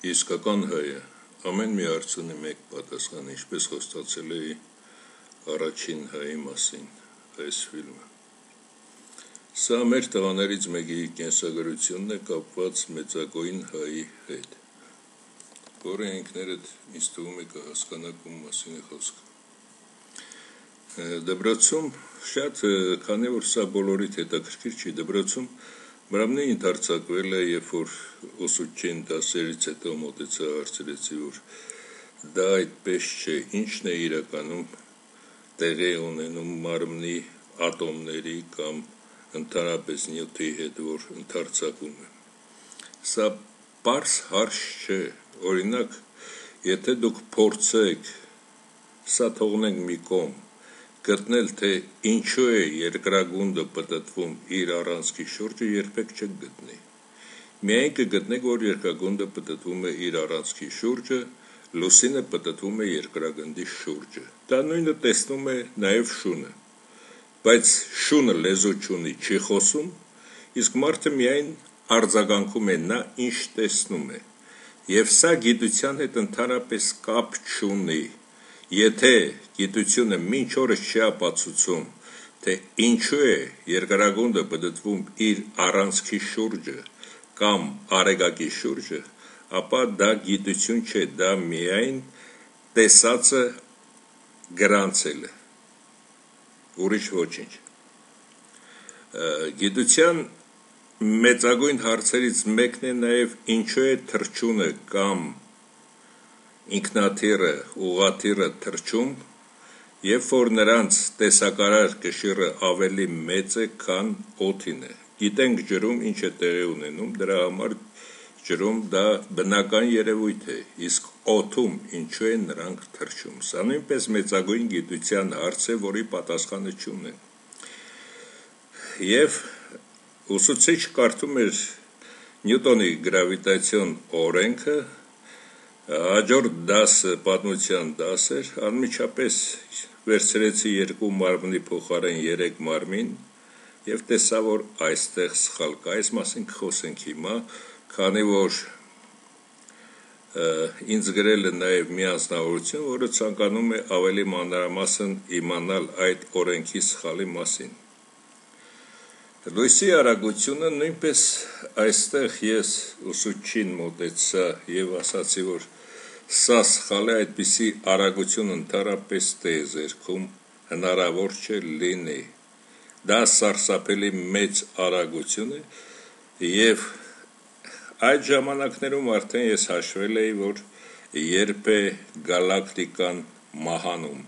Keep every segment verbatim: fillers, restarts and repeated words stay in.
Իսկական հայը ամեն մի հարց ունի մեկ պատասխան, ինչպես խոստացել էի առաջին հայի մասին այս ֆիլմը։ Սա մեր տղաներից մեկի կենսագրությունն է կապված մեծագույն հայի հետ, որը ինքներդ ինձ թվում է կհասկանաք ում մասին է խոսքը։ Դպրոցում շատ, քանի որ սա բոլորիդ հետաքրքիր չի, դպրոցում Մրամնի ընդարձակվել է, երբ որ ուսուցչին դասերից հետո մոտեցա հարցրեցի, որ դա այդպես չէ, ինչն է իրականում տեղի ունենում մարմնի ատոմների կամ ընդհանրապես նյութի հետ, որ ընդարձակում է։ Սա պարզ հարց չէ, օրինակ, եթե դուք փորձեք, սա թողնենք մի կողմ, գտնել, թե ինչու է երկրագունդը պտտվում իր առանցքի շուրջը, երբեք չեք գտնի։ Միայն կգտնեք, որ երկրագունդը պտտվում է իր առանցքի շուրջը, լուսինը պտտվում է երկրագնդի շուրջը։ Դա նույնը տեսնում է նաև շունը, բայց շունը լեզու չունի, չի խոսում, իսկ մարդը միայն արձագանքում է նա, ինչ տեսնում է, և սա գիտության հետ ընդհանրապես կապ չունի։ Եթե գիտությունը մինչ օրս չի ապացուցում, թե ինչու է երկրագունդը պտտվում իր առանցքի շուրջը կամ արեգակի շուրջը, ապա դա գիտություն չէ, դա միայն տեսածը գրանցել է, ուրիշ ոչինչ։ Գիտության մեծագույն հարցերից մեկն է նաև ինչու է թռչունը կամ ինքնաթիռը, ուղղաթիռը թռչում, երբ որ նրանց տեսակարար կշիռը ավելի մեծ է, քան օդին է։ Գիտենք ջրում ինչ է տեղի ունենում, դրա համար ջրում դա բնական երևույթ է, իսկ օդում ինչու են նրանք թռչում։ Սա նույնպես մեծագույն գիտության հարց է, որի պատասխանը չունեն։ Եվ ուսուցիչ կարդում էր Նյուտոնի գրավիտացիոն օրենքը, հաջորդ դասը պատմության դաս էր, անմիջապես վերցրեցի երկու մարմնի փոխարեն երեք մարմին և տեսա, որ այստեղ սխալ կա, այս մասին կխոսենք հիմա, քանի որ ինձ գրել է նաև մի անձնավորություն, որը ցանկանում է ավելի մանրամասն իմանալ այդ օրենքի սխալի մասին։ Լույսի արագությունը նույնպես այստեղ ես ուսուցչին մոտեցա և ասացի, որ սա սխալ է, այդպիսի արագություն ընդհանրապես տիեզերքում հնարավոր չէ լինի։ Դա սարսափելի մեծ արագություն է և այդ ժամանակներում արդեն ես հաշվել էի, որ երբ է գալակտիկան մահանում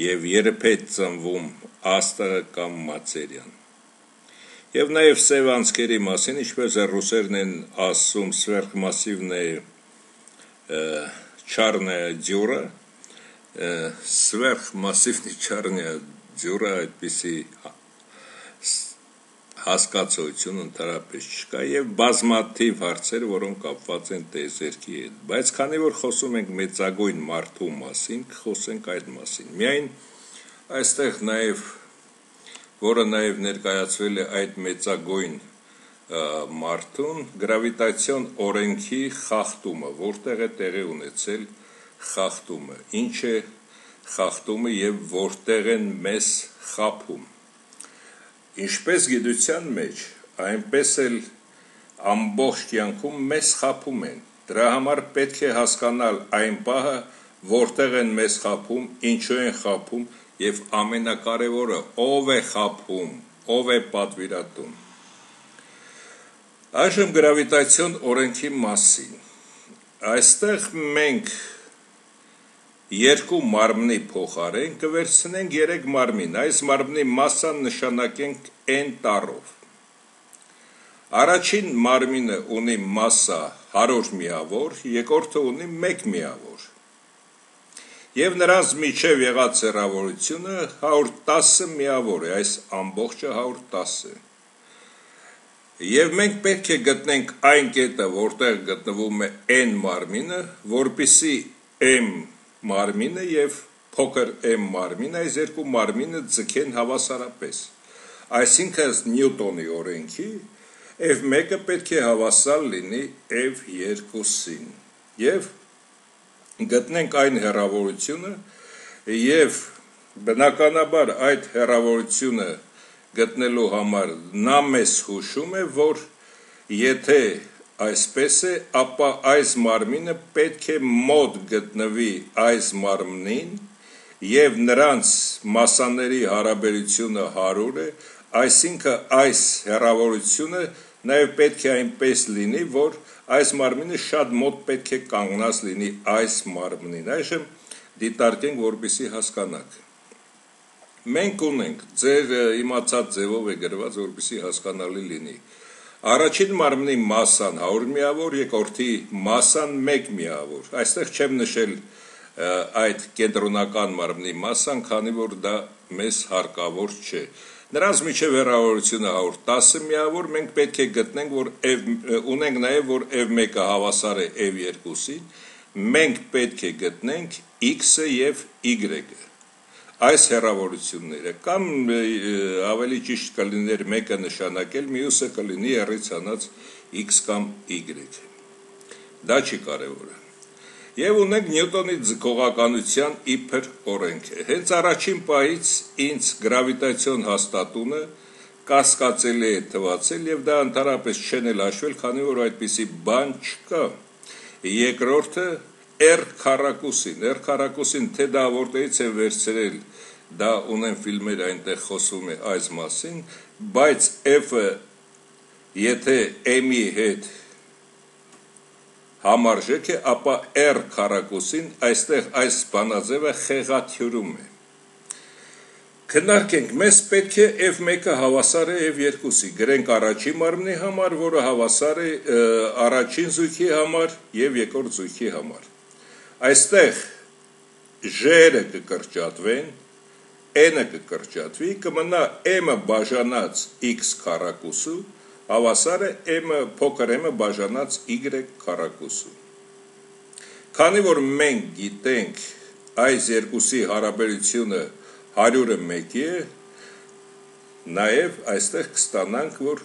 և երբ է ծնվում աստղը կամ մատերիան։ Եվ նաև սև անցքերի մասին, ինչպես ռուսերն են ասում, սվերխմասիվնե չարնայա դյուրա, սվերխմասիվնի չարնայա դյուրա, այդպիսի հասկացություն ընդհանրապես չկա և բազմաթիվ հարցեր, որոնք կապված են տիեզերքի հետ, բայց քանի որ խոսում ենք մեծագույն մարդու մասին, կխոսենք այդ մասին։ Միայն այստեղ նաև, որը նաև ներկայացվել է այդ մեծագույն մարդուն, գրավիտացիոն օրենքի խախտումը, որտեղ է տեղի ունեցել խախտումը, ինչ է խախտումը և որտեղ են մեզ խաբում։ Ինչպես գիտության մեջ, այնպես էլ ամբողջ կյանքում մեզ խաբում են, դրա համար պետք է հասկանալ այն պահը, որտեղ են մեզ խաբում, ինչու են խաբում և ամենակարևորը, ով է խաբում, ով է պատվիրատուն։ Այժմ գրավիտացիոն օրենքի մասին։ Այստեղ մենք երկու մարմնի փոխարեն կվերցնենք երեք մարմին, այս մարմնի մասսան նշանակենք N տառով։ Առաջին մարմինը ունի մասսա հարյուր միավոր, երկրորդը ունի մեկ միավոր։ Եվ նրանց միջև եղած հեռավորությունը հարյուր տասը միավոր է, այս ամբողջը հարյուր տասը է։ Եվ մենք պետք է գտնենք այն կետը, որտեղ գտնվում է N մարմինը, որպեսզի M մարմինը և փոքր m մարմինը, այս երկու մարմինը ձգեն հավասարապես։ Այսինքն Նյուտոնի օրենքի F մեկը պետք է հավասար լինի F երկուսին։ եւ գտնենք այն հեռավորությունը եւ բնականաբար այդ հեռավորությունը գտնելու համար նա մեզ հուշում է, որ եթե այսպես է, ապա այս մարմինը պետք է մոտ գտնվի այս մարմնին եւ նրանց մասաների հարաբերությունը հարյուր է, այսինքն այս հեռավորությունը նաեւ պետք է այնպես լինի, որ այս մարմինը շատ մոտ պետք է կանգնած լինի այս մարմնին։ Այժմ դիտարկենք, որպեսզի հասկանաք։ Մենք ունենք, ձեր իմացած ձևով է գրված, որպեսզի հասկանալի լինի։ Առաջին մարմնի մասան հարյուր միավոր, երկրորդի մասան մեկ միավոր։ Այստեղ չեմ նշել այդ կենտրոնական մարմնի մասան, քանի որ դա մեզ հարկավոր չէ։ Նրանց միջև հեռավորությունը հարյուր տասը միավոր, մենք պետք է գտնենք, որ ունենք նաև, որ F մեկը հավասար է F երկուսին, մենք պետք է գտնենք X-ը և Y-ը, այս հեռավորությունները, կամ ավելի ճիշտ կլիներ մեկը նշանակել, մյուսը կլինի հեռից հանած X կամ Y, դա չի կարևորը։ Եվ ունենք Նյուտոնի ձգողականության իբր օրենքը։ Հենց առաջին պահից ինձ գրավիտացիոն հաստատությունը կասկածելի է թվացել եւ դա ընդհանրապես չեն էլ հաշվել, քանի որ այդպիսի բան չկա։ Երկրորդը R քառակուսին, R քառակուսին թե դա որտեղից է վերցրել, դա ունեն ֆիլմեր, այնտեղ խոսվում է այս մասին, բայց F-ը եթե M-ի հետ համարժեք է, ապա R քառակուսին այստեղ այս բանաձևը խեղաթյուրում է։ Քննարկենք, մեզ պետք է F մեկը հավասար է F երկուսի, գրենք առաջին մարմնի համար, որը հավասար է առաջին զույգի համար և երկրորդ զույգի համար։ Այստեղ J-ը կկրճատվեն, N-ը կկրճատվի, կմնա M-ը բաժանած X քառակուսու, հավասար է M-ը փոքր M-ը բաժանած Y քառակուսու։ Քանի որ մենք գիտենք այս երկուսի հարաբերությունը հարյուրը մեկի է, նաև այստեղ կստանանք, որ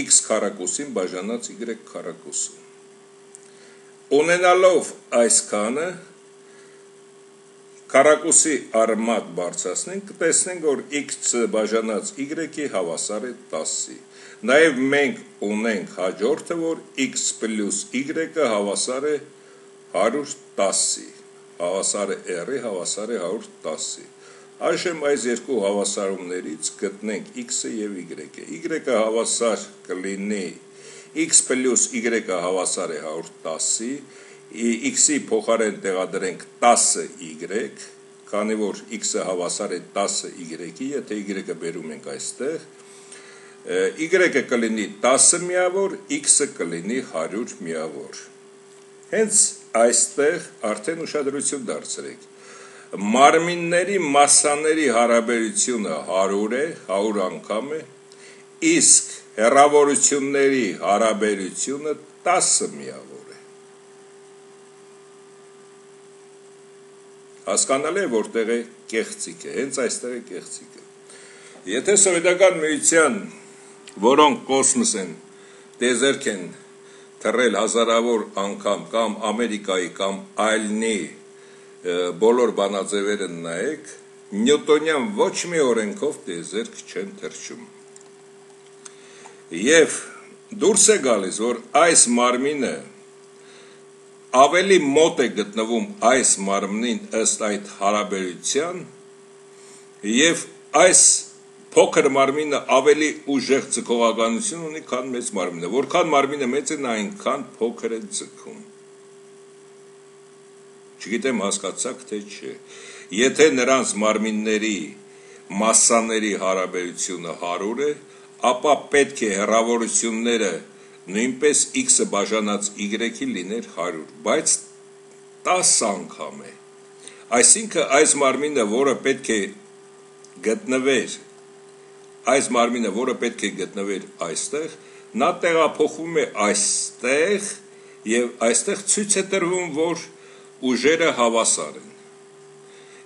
X քառակուսին բաժանած Y քառակուսու։ Ունենալով այսքանը, քառակուսի արմատ բարձրացնենք, կտեսնենք, որ X բաժանած Y-ի հավասար է տասի։ Նաև մենք ունենք հաջորդը, որ X պլյուս Y-ը հավասար է հարյուր տասի, հավասար է R-ի, հավասար է հարյուր տասի։ Այժմ այս երկու հավասարումներից գտնենք X-ը և Y-ը։ Y-ը հավասար կլինի, X պլյուս Y-ը հավասար է հարյուր տասի, X-ի փոխարեն տեղադրենք տասը Y, քանի որ X-ը հավասար է տասը Y-ի, եթե Y-ը բերում ենք այստեղ, Y-ը կլինի տասը միավոր, X-ը կլինի հարյուր միավոր։ Հենց այստեղ արդեն ուշադրություն դարձրեք։ Մարմինների մասաների հարաբերությունը հարյուր է, հարյուր անգամ է, իսկ հեռավորությունների հարաբերությունը տասը միավոր է։ Հասկանալի է, որտեղ է կեղծիկը, հենց այստեղ է կեղծիկը։ Եթե Սովետական Միության, որոնք կոսմոս են, տեզերք են թռել հազարավոր անգամ, կամ Ամերիկայի, կամ այլնի բոլոր բանաձևերը նայեք, նյուտոնյան ոչ մի օրենքով տեզերք չեն թռչում։ Եվ դուրս է գալիս, որ այս մարմինը ավելի մոտ է գտնվում այս մարմնին ըստ այդ հարաբերության, եւ այս փոքր մարմինը ավելի ուժեղ ձգողականություն ունի, քան մեծ մարմինը։ Որքան մարմինը մեծ է, նա այնքան փոքր է ձգում։ Չգիտեմ հասկացաք թե չէ։ Եթե նրանց մարմինների մասաների հարաբերությունը հարյուր է, ապա պետք է հեռավորությունները նույնպես X-ը բաժանած Y-ի լիներ հարյուր, բայց տասը անգամ է։ Այսինքն այս մարմինը, որը պետք է գտնվեր Այս մարմինը, որը պետք է գտնվեր այստեղ, նա տեղափոխվում է այստեղ եւ այստեղ ցույց է տրվում, որ ուժերը հավասար են։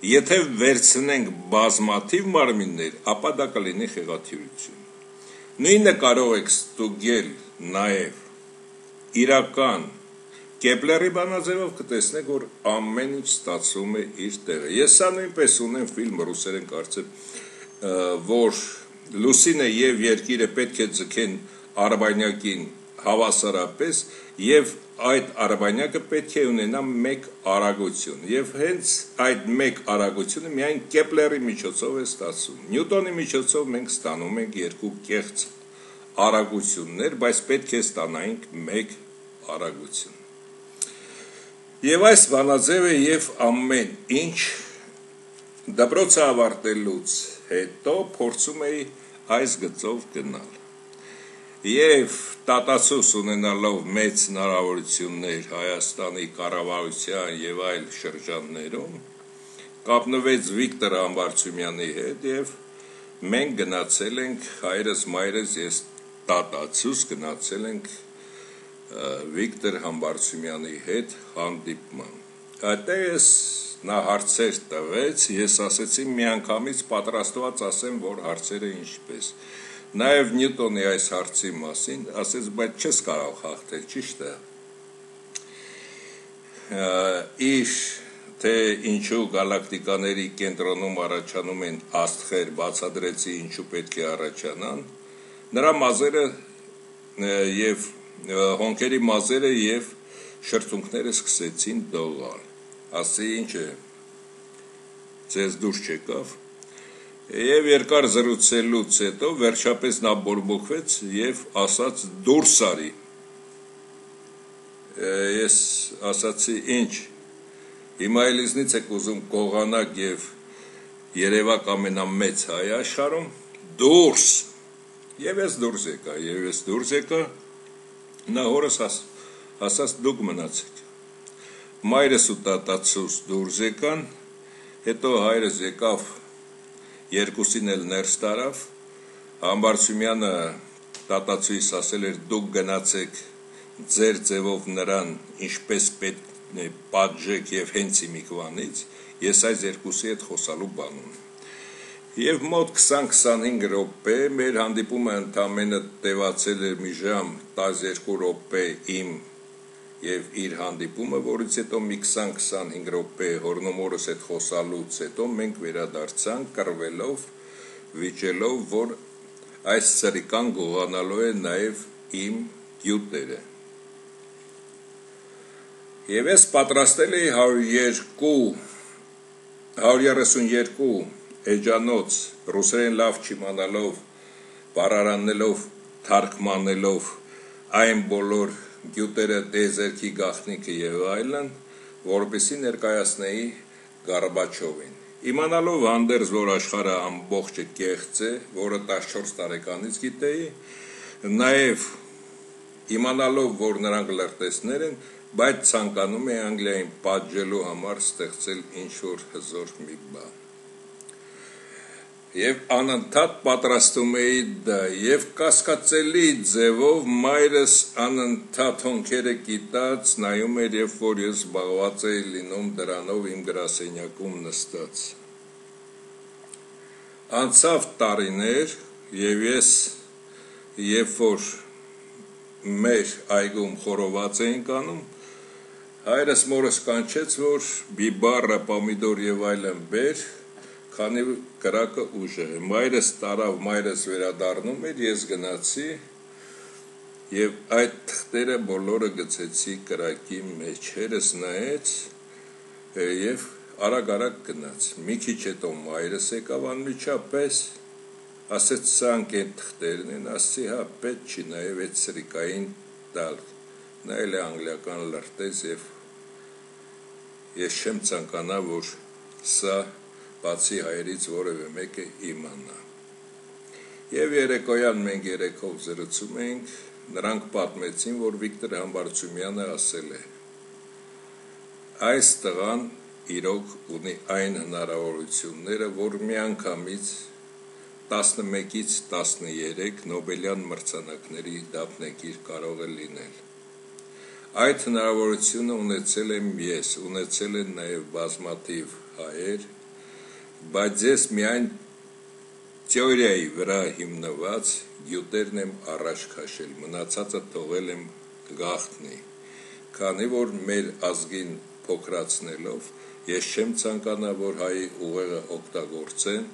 Եթե վերցնենք բազմաթիվ մարմիններ, ապա դա կլինի խեղաթյուրություն։ Նույնը կարող եք ստուգել նաեւ իրական Կեպլերի բանաձևով կտեսնեք, որ ամեն ինչ ստացվում է իր տեղը։ Ես սա նույնպես ունեմ ֆիլմ ռուսերեն կարծեմ, որ Լուսինը եւ Երկիրը պետք է ձգեն Արբանյակին հավասարապես եւ այդ Արբանյակը պետք է ունենա մեկ արագություն եւ հենց այդ մեկ արագությունը միայն Կեպլերի միջոցով է ստացվում։ Նյուտոնի միջոցով մենք ստանում ենք երկու կեղծ արագություններ, բայց պետք է ստանայինք մեկ արագություն։ Եվ այս բանաձևը եւ ամեն ինչ դպրոցը ավարտելուց հետո փորձում էի այս գծով գնալ։ Եվ տատացուս ունենալով մեծ հնարավորություններ Հայաստանի կառավարության եւ այլ շրջաններում, կապնվեց Վիկտոր Համբարձումյանի հետ եւ մենք գնացել ենք հայրս մայրս ես տատացուս գնացել ենք Վիկտոր Համբարձումյանի հետ հանդիպման։ Այդտեղ ես նա հարցեր տվեց, ես ասեցի միանգամից պատրաստված ասեմ, որ հարցերը ինչպես։ Նաև Նյուտոնի այս հարցի մասին ասեց, բայց չես կարող հաղթել, ճիշտ է։ Իր թե ինչու գալակտիկաների կենտրոնում առաջանում են աստղեր, բացադրեցի ինչու պետք է առաջանան, նրա մազերը եւ հոնքերի մազերը եւ շրթունքները սկսեցին դողալ։ Ասի ինչ է, ձեզ դուրս չեկավ։ Եվ երկար զրուցելուց հետո վերջապես նա բորբոքվեց եւ ասաց դուրս արի։ Ես ասացի ինչ, հիմա էլիզնից եք ուզում կողանակ եւ երևակ ամենամեծ հայ աշխարհում, դուրս։ Եվ ես դուրս եկա, եւ ես դուրս եկա, նա հորս ասաց դուք մնացեք։ Մայրս ու տատացուս դուրս եկան, հետո հայրս եկավ, երկուսին էլ ներս տարավ, Համբարձումյանը տատացուիս ասել էր դուք գնացեք ձեր ձևով նրան ինչպես պետք է պատժեք եւ հենց իմիկվանից, ես այս երկուսի հետ խոսալու բան ունեմ։ Եվ մոտ քսան-քսանհինգ րոպե մեր հանդիպումը ընդամենը տևացել էր մի ժամ տասներկու րոպե իմ եւ իր հանդիպումը, որից հետո մի քսան-քսանհինգ րոպե հորնոմորս հետ խոսալուց հետո մենք վերադարձանք կռվելով, վիճելով, որ այս սրիկան գողանալու է նաեւ իմ գյուտերը։ Եվ ես պատրաստել էի հարյուր երեսունյերկու էջանոց ռուսերեն լավ չիմանալով, բառարանելով, թարգմանելով այն բոլոր գյուտերը, դեզերքի գաղտնիքը եւ այլն, որպեսզի ներկայացնեի Գորբաչովին։ Իմանալով հանդերձ, որ աշխարհը ամբողջը կեղծ է, որը տասնչորս տարեկանից գիտեի, նաեւ իմանալով, որ նրանք լրտեսներ են, բայց ցանկանում է Անգլիային պատժելու համար ստեղծել ինչ-որ հզոր մի բան։ Եվ անընդհատ պատրաստում էի դա, եւ կասկածելի ձևով մայրս անընդհատ հոնքերը կիտած նայում էր, երբ որ ես զբաղված էի լինում դրանով իմ գրասենյակում նստած։ Անցավ տարիներ, եւ ես երբ որ մեր այգում խորոված էինք անում, հայրս մորս կանչեց, որ բիբարը, պոմիդոր եւ այլն բեր, քանի կրակը ուժ է։ Մայրս տարավ, մայրս վերադառնում էր, ես գնացի եւ այդ թղթերը բոլորը գցեցի կրակի մեջ։ Հերս նայեց եւ արագ-արագ գնաց։ Մի քիչ հետո մայրս եկավ անմիջապես, ասեց սրանք են թղթերն են, ասի հա պետք չի նաեւ այդ սրիկային տալ։ Նա էլ է անգլիական լրտես եւ ես չեմ ցանկանա, որ սա բացի հայերից որևէ մեկը իմանա։ Եվ երեկոյան մենք երեքով զրուցում էինք, նրանք պատմեցին, որ Վիկտոր Համբարձումյանը ասել է. այս տղան իրոք ունի այն հնարավորությունները, որ միանգամից տասնմեկից տասներեք Նոբելյան մրցանակների դափնեկիր կարող է լինել։ Այդ հնարավորությունը ունեցել եմ ես, ունեցել են նաև բազմաթիվ հայեր, բայց ես միայն թեորիայի վրա հիմնված գյուտերն եմ առաջ քաշել, մնացածը թողել եմ գաղտնի։ քանի որ մեր ազգին փոքրացնելով ես չեմ ցանկանա, որ հայի ուղեղը օգտագործեն,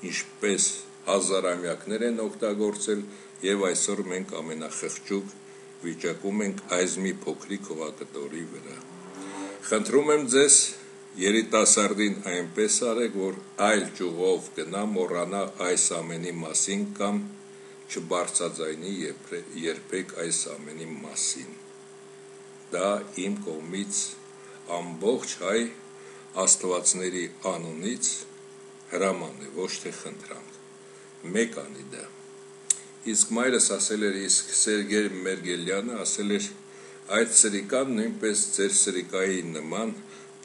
ինչպես հազարամյակներ են օգտագործել, եւ այսօր մենք ամենախղճուկ վիճակում ենք այս մի փոքրիկ հողակտորի վրա։ Խնդրում եմ ձեզ, երիտասարդին այնպես արեք, որ այլ ճյուղով գնա, մոռանա այս ամենի մասին կամ չբարձրաձայնի երբեք այս ամենի մասին։ Դա իմ կողմից ամբողջ հայ աստվածների անունից հրաման է, ոչ թե խնդրանք։ Մեկ անի դա։ Իսկ մայրս ասել էր, իսկ Սերգեյ Մերգելյանը ասել էր, այդ սրիկան նույնպես ձեր սրիկայի նման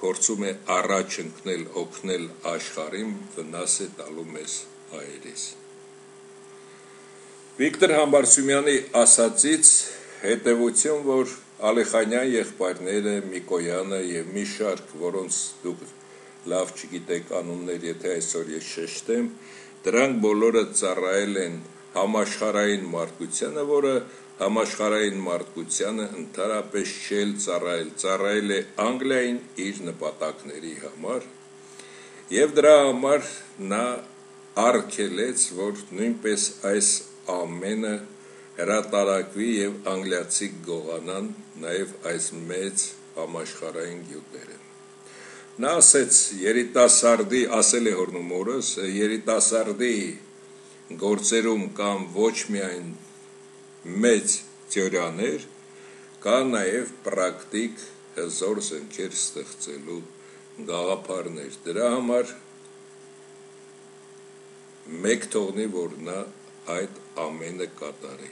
փորձում է առաջ ընկնել, օգնել աշխարհին, վնաս է տալու մեզ հայերիս։ Վիկտոր Համբարձումյանի ասածից հետևություն, որ Ալիխանյան եղբայրները, Միկոյանը եւ մի շարք, որոնց դուք լավ չգիտեք անուններ, եթե այսօր ես շեշտեմ, դրանք բոլորը ծառայել են համաշխարհային մարդկությանը, որը համաշխարհային մարդկությանը ընդհանրապես չել ծառայել, ծառայել է Անգլիային իր նպատակների համար, եւ դրա համար նա արգելեց, որ նույնպես այս ամենը հրատարակվի եւ անգլիացի գողանան նաեւ այս մեծ համաշխարհային գյուտերը։ Նա ասեց, երիտասարդի, ասել է հորնումորս, երիտասարդի գործերում կամ ոչ միայն մեծ թեորիաներ, կա նաեւ պրակտիկ հզոր զենքեր ստեղծելու գաղափարներ։ Դրա համար մեկ թողնի, որ նա այդ ամենը կատարի։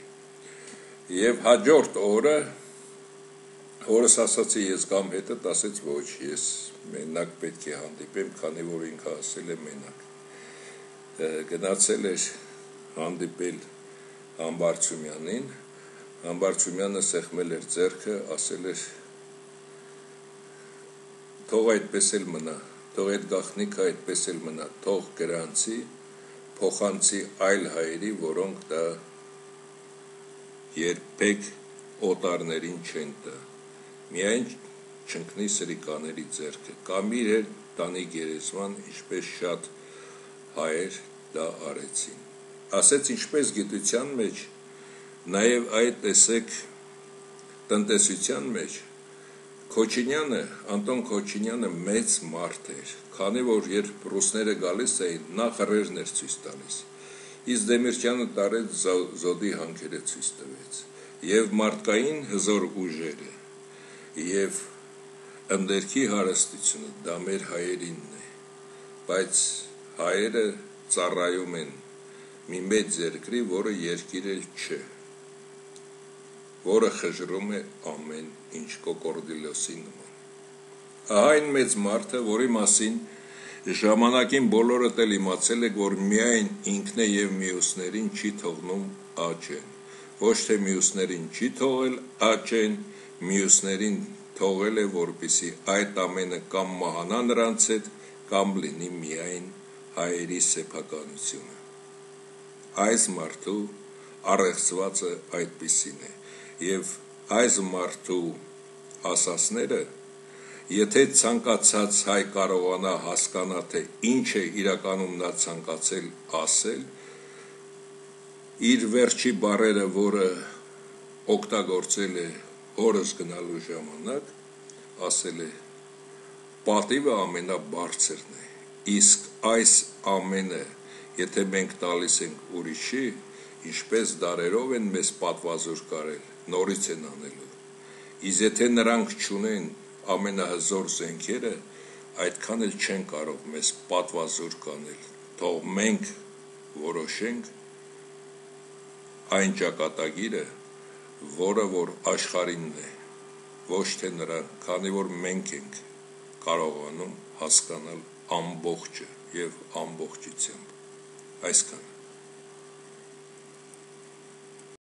Եվ հաջորդ օրը օրս ասացի, ես գամ հետդ, ասեց ոչ, ես մենակ պետք է հանդիպեմ, քանի որ ինքը ասել է մենակ։ Գնացել էր հանդիպել Համբարձումյանին, Համբարձումյանը սեղմել էր ձեռքը, ասել էր, թող այդպես էլ մնա, թող այդ գաղտնիքը այդպես էլ մնա, թող գրանցի, փոխանցի այլ հայերի, որոնք դա երբեք օտարներին չեն տա, միայն չընկնի սրիկաների ձեռքը, կամ իր հետ տանի գերեզման, ինչպես շատ հայեր դա արեցին։ Ասեց, ինչպես գիտության մեջ, նաև այդ տեսեք տնտեսության մեջ, Քոչինյանը, Անտոն Քոչինյանը մեծ մարդ էր, քանի որ երբ ռուսները գալիս էին, նա խռերն էր ցույց տալիս, իսկ Դեմիրճյանը տարեց զոդի հանքերը ցույց տվեց, եւ մարդկային հզոր ուժերը, եւ ընդերքի հարստությունը դա մեր հայերինն է, բայց հայերը ծառայում են մի մեծ երկրի, որը երկիր էլ չէ, որը խժռում է ամեն ինչ կոկորդիլոսի նման։ Ահա այն մեծ մարդը, որի մասին ժամանակին բոլորդ էլ իմացել եք, որ միայն ինքն է եւ մյուսներին չի թողնում աճեն, ոչ թե մյուսներին չի թողել աճեն, մյուսներին թողել է, որպեսզի այդ ամենը կամ մահանա նրանց հետ, կամ լինի միայն հայերի սեփականությունը։ Այս մարդու առեղծվածը այդպիսին է, եւ այս մարդու ասասները, եթե ցանկացած հայ կարողանա հասկանա, թե ինչ է իրականում նա ցանկացել ասել, իր վերջի բառերը, որը օգտագործել է օրս գնալու ժամանակ, ասել է, պատիվը ամենաբարձրն է, իսկ այս ամենը, եթե մենք տալիս ենք ուրիշի, ինչպես դարերով են մեզ պատվազոր կարել, նորից են անելու, իսկ եթե նրանք չունեն ամենահզոր զենքերը, այդքան էլ չեն կարող մեզ պատվազոր կանել, թող մենք որոշենք այն ճակատագիրը, որը որ աշխարհինն է, ոչ թե նրան, քանի որ մենք ենք կարողանում հասկանալ ամբողջը եւ ամբողջությամբ, այսքան